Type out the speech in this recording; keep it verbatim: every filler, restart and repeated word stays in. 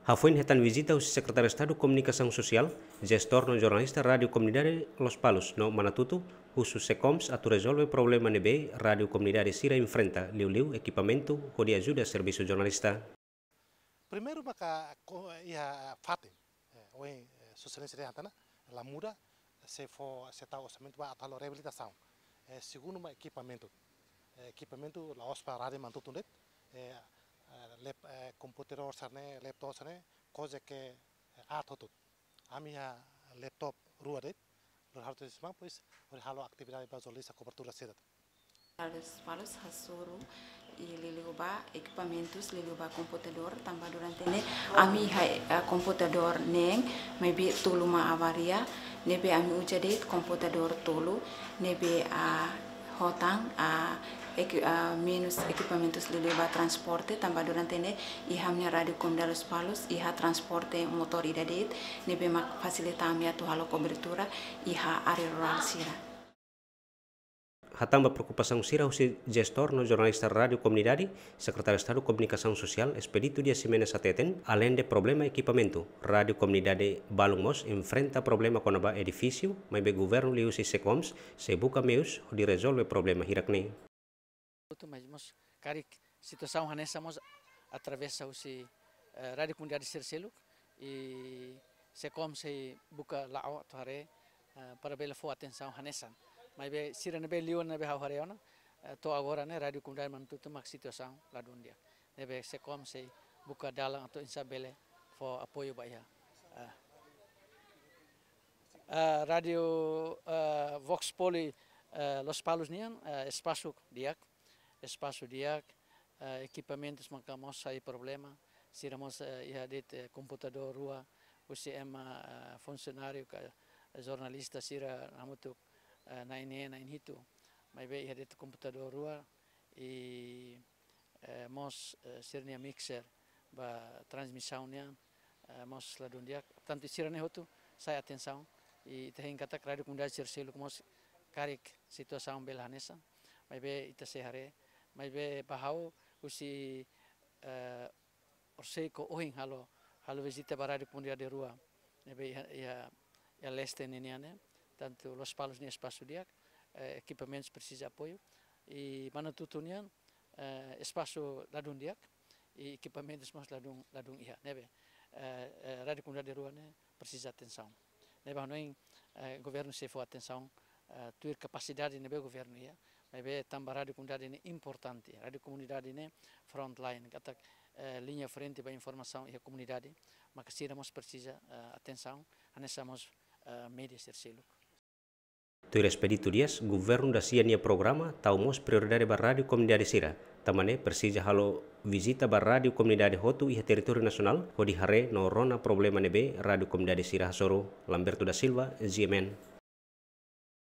Hafoin hetan vizita husi Sekretáriu Estadu Komunikasaun Sosiál, jestór no jornalista Rádiu Komunidade Lospalos no Manatuto, husu SEKOMS atu rezolve problema ne'ebé rádiu komunidade sira enfrenta, liuliu ekipamentu hodi ajuda servisu jornalista. Primeiru maka ko-, iha fatin, eh, ohin, eh, Sua Exelénsia dehan tiha ona, la muda, sei fó, sei tau orsamentu ba atu halo reabilitasaun. Eh, segundu mak ekipamentu. Eh, ekipamentu la'ós ba rádiu Manatuto de'it, eh, eh, lap-, eh, komputadór sira-ne'e, laptop sira-ne'e, kuaze ke, eh, aat hotu. Ami iha laptop rua de'it, lori halo tesi mang, pois, hodi halo atividade ba jornalista kobertura sira. Lospalos hasoru i liuliu ba ekipamentus, liuliu ba komputadór, tanba durante ne'e ami iha, eh, komputadór neen, maibé tolu mak avaria, ne'ebé ami uza de'it komputadór tolu, ne'ebé, ah, ho tan, ah, eki-, ah, menus ekipamentus liuliu ba transporte, tanba durante ne'e iha ami-nia Rádiu Komunidade Lospalos iha transporte motór ida de'it, ne'ebé mak fasilita ami atu halo kobertura iha área rurál sira. Hatán ba preokupasaun sira husi jestór no jornalista Rádiu Komunidade, Sekretáriu Estadu Komunikasaun Sosiál, Expedito Dias Ximenes hateten, aleinde problema ekipamentu, rádiu komunidade balun mós enfrenta problema kona-ba edifísiu, maibé governu liuhusi SEKOMS sei buka meius hodi rezolve problema hirak-ne'e. Tutu, mas mós karik situasaun hanesan mós atravesa husi, eh, rádiu komunidade sira seluk, i SEKOMS sei buka la'o atu haree, eh, para bele fó atensaun hanesan. Maibé sira ne'ebé liu ne'ebé ha'u haree ona, eh, to'o agora ne'e rádiu komunidade Manatuto mak situasaun ladún di'ak. Ne'ebé SEKOMS sei buka dalan atu oinsá bele fó apoiu ba iha. Ah. Ah, rádiu, ah, Vox Populi, ah, Lospalos nian, ah, espasu di'ak, espasu di'ak, ah, ekipamentus maka mós sai problema, sira mós, ah, iha de'it, eh, komputadór rua, husi ema, ah, funsionáriu ka jornalista sira hamutuk, ah, na'in-neen, na'in-hitu, maibé iha de'it komputadór rua, i eh, mós, eh, sira-nia mixer ba transmisaun nian, eh, mós ladún di'ak. Portantu, sira-ne'e hotu sai atensaun, i ita hein katak rádiu komunidade sira seluk mós karik situasaun bele hanesan. Maibé ita sei haree, maibé ba ha'u husi, eh, horisehik ohin halo, halo vizita ba rádiu komunidade rua ne'ebé iha, iha, iha leste ninian ne'e, tantu Lospalos nian espasu di'ak, eh, ekipamentus presiza apoiu, i Manatuto nian, eh, espasu ladún di'ak, i ekipamentus mós ladún, ladún iha, ne'ebé, eh, eh, rádiu komunidade rua ne'e presiza atensaun. Ne'ebé hanoin, eh, governu sei fó atensaun, eh, tuir kapasidade ne'ebé governu iha, maibé tanba rádiu komunidade ne'e importante, rádiu komunidade ne'e frontline, katak, eh, liña frente ba informasaun iha komunidade, maka sira mós presiza, eh, atensaun, hanesan mós, eh, média sira seluk. Tuir Expedito Dias, governu da-sia nia programa tau mós prioridade ba rádiu komunidade sira. Tanba ne'e presiza halo vizita ba rádiu komunidade hotu iha territóriu nasionál, hodi haree no rona problema ne'ebé rádiu komunidade sira hasoru. Lamberto da Silva, G M N,